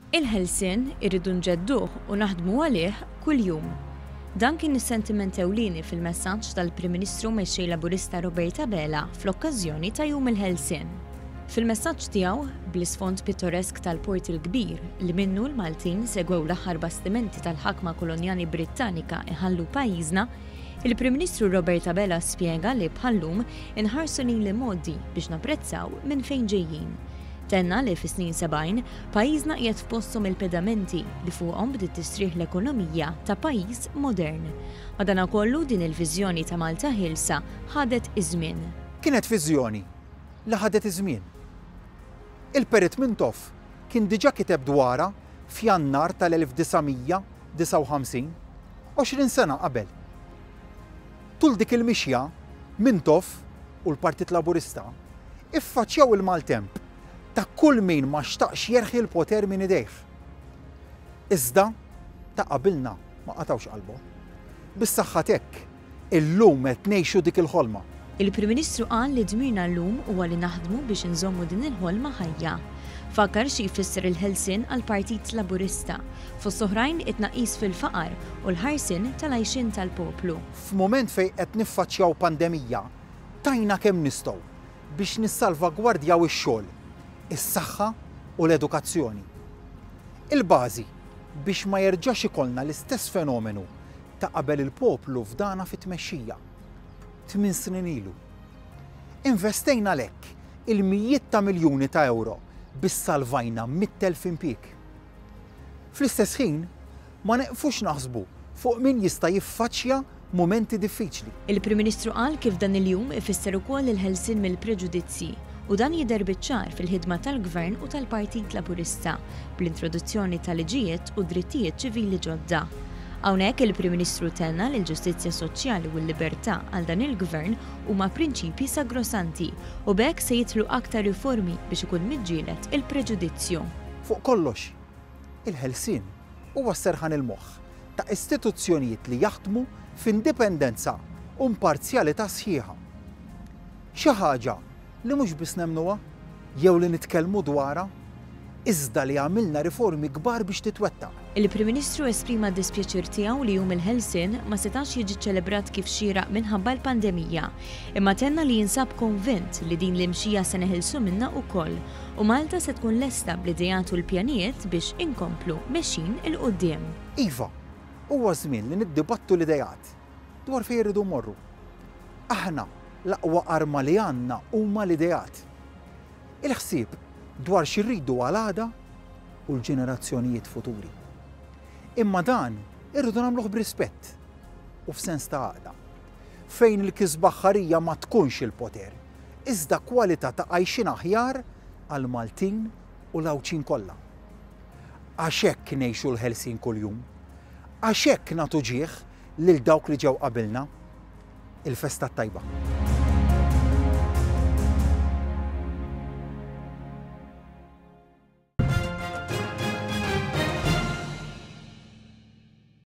Il-ħelsien irridu nġedduh u naħdmu għalih kuljum. Dan kien is-sentiment ewlieni fil-messaġġ tal-Prim Ministru Mexxej Laburista Robert Abela fl-okkażjoni ta' Jum il-Ħelsien. Fil-messaġġ tiegħu, bl-isfond pittoresk tal-Port il-Kbir li minnu l-Maltin segwew l-aħħar bastimenti tal-ħakma kolonjali Brittanika iħallu pajjiżna, il-Prim Ministru Robert Abela spjega li bħal-lum inħarsu lejn l-imgħoddi biex napprezzaw minn fejn ġejjin. Tenna li fis-snin 70, pajjiżna qiegħed f'posthom il-pedamenti li fuqhom bdiet tistrieħ l-ekonomija ta' pajjiż modern. Madanakollu din il-viżjoni ta' Malta ħielsa ħadet iż-żmien. Kienet viżjoni li ħadet iż-żmien. Il-Perit Mintoff kien diġà kiteb dwarha f'Jannar tal-1959, 20 sena qabel. Tul dik il-mixja, Mintoff u l-Partit Laburista iffaċċjaw il-maltemp ta' kull min ma xtaqx jerħi l-poter minn idejh. Iżda, ta' qabilna ma qatgħux qalbhom. Bis-saħħa t'hekk, illum qed ngħixu dik il-ħolma. Il-Prim Ministru qal li dmirna llum huwa li naħdmu biex inżommu din il-ħolma ħajja. Fakkar xi jfisser il-ħelsien għall-Partit Laburista, fost oħrajn it-tnaqqis fil-faqar u l-ħarsien tal-għajxien tal-poplu. F'mument fejn qed niffaċċjaw pandemija, tajna kemm nistgħu biex nissalvagwardjaw ix-xogħol, is-saħħa u l-edukazzjoni. Il-bażi biex ma jerġax ikollna l-istess fenomenu ta' qabel il-poplu fdana fit-tmexxija, tminn snin ilu. Investejna għalhekk il-mijiet ta' miljuni ta' ewro biex salvajna 100,000 impjieg. Fl-istess ħin, ma neqfux naħsbu fuq min jista' jiffaċċja mumenti diffiċli. Il-Prim Ministru qal kif dan il-jum ifisser ukoll il-ħelsien mill-preġudizzji u dan jidher biċ-ċar fil-ħidma tal-Gvern u tal-Partit Laburista bl-introduzzjoni ta' liġijiet u drittijiet ċivili ġodda. Hawnhekk il-Prim Ministru tenna li l-ġustizzja soċjali u l-libertà għal dan il-Gvern huma prinċipji sagrosanti u b'hekk se jidħlu aktar riformi biex ikun miġġieled il-preġudizzju. Fuq kollox, il-ħelsien huwa s-serħan il-moħħ ta' istituzzjonijiet li jaħdmu f'indipendenza u imparzjalità sħiħa. Xi ħaġa li mhux biss nemmnuha jew li nitkellmu dwarha, iżda li għamilna riformi kbar biex titwettaq. Il-Prim Ministru esprima d-dispjaċir tiegħu li Jum il-Ħelsien ma setax jiġi ċċelebrat kif xieraq minħabba l-pandemija, imma tenna li jinsab konvint li din l-imxija se neħilsu minnha ukoll u Malta se tkun lesta bl-ideat u l-pjanijiet biex inkomplu mexjin 'il quddiem. Iva, huwa żmien li niddibattu l-ideat dwar fejn irridu mmorru. Aħna l-aqwa arma li għandna huma l-ideat. Il-ħsieb dwar xi rridu għal għada u l-ġenerazzjonijiet futuri. Imma dan irridu nagħmluh b'rispett u f'sens ta' għaqda. Fejn il-kisba aħħarija ma tkunx il-poter, iżda kwalità ta' għajxien aħjar għall-Maltin u l-Għawdxin kollha. Għax hekk ngħixu l-ħelsien kuljum. Għax hekk nagħtu ġieħ lil dawk li ġew qabilna. Il-festa t-tajba.